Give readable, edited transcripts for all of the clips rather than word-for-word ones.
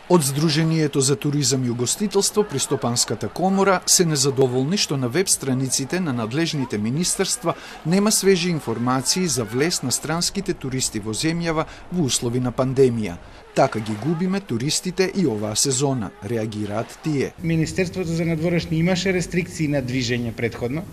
Од Сдруженијето за туризам и угостителство при Стопанската комора се незадоволни што на веб страниците на надлежните министерства нема свежи информации за влез на странските туристи во земјава во услови на пандемија. Така ги губиме туристите и оваа сезона, реагираат тие. Министерството за надворешни имаше рестрикции на движење претходно.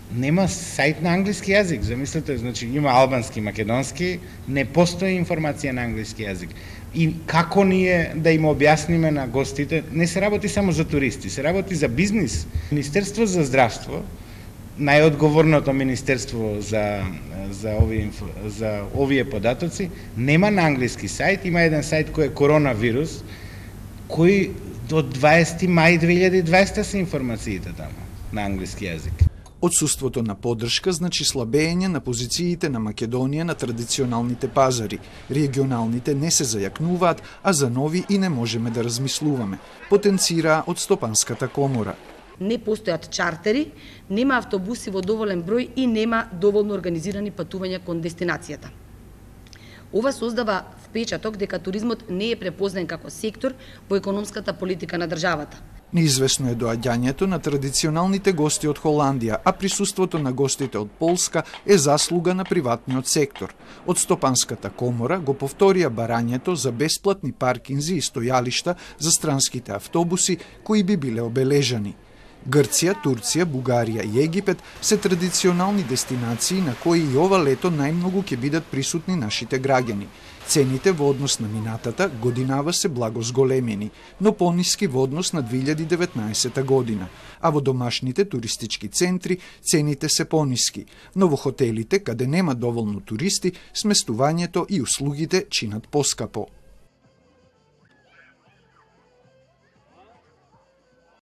Нема сајт на англиски јазик, замислете, значи има албански, македонски, не постои информација на англиски јазик. И како ние да им објасниме на гостите, не се работи само за туристи, се работи за бизнис. Министерство за здравство, најодговорното министерство за овие податоци, нема на англиски сајт, има еден сајт кој е коронавирус, кој до 20 мај 2020 се информациите таму на англиски јазик. Отсуството на поддршка значи слабење на позициите на Македонија на традиционалните пазари. Регионалните не се зајакнуваат, а за нови и не можеме да размислуваме, потенцираа од Стопанската комора. Не постојат чартери, нема автобуси во доволен број и нема доволно организирани патувања кон дестинацијата. Ова создава впечаток дека туризмот не е препознаен како сектор во економската политика на државата. Неизвестно е доаѓањето на традиционалните гости од Холандија, а присуството на гостите од Полска е заслуга на приватниот сектор. Од Стопанската комора го повторија барањето за бесплатни паркинзи и стојалишта за странските автобуси кои би биле обележани. Грција, Турција, Бугарија и Египет се традиционални дестинации на кои и ова лето најмногу ќе бидат присутни нашите граѓани. Цените во однос на минатата годинава се благо зголемени, но пониски во однос на 2019 година, а во домашните туристички центри цените се пониски, но во хотелите каде нема доволно туристи, сместувањето и услугите чинат поскапо.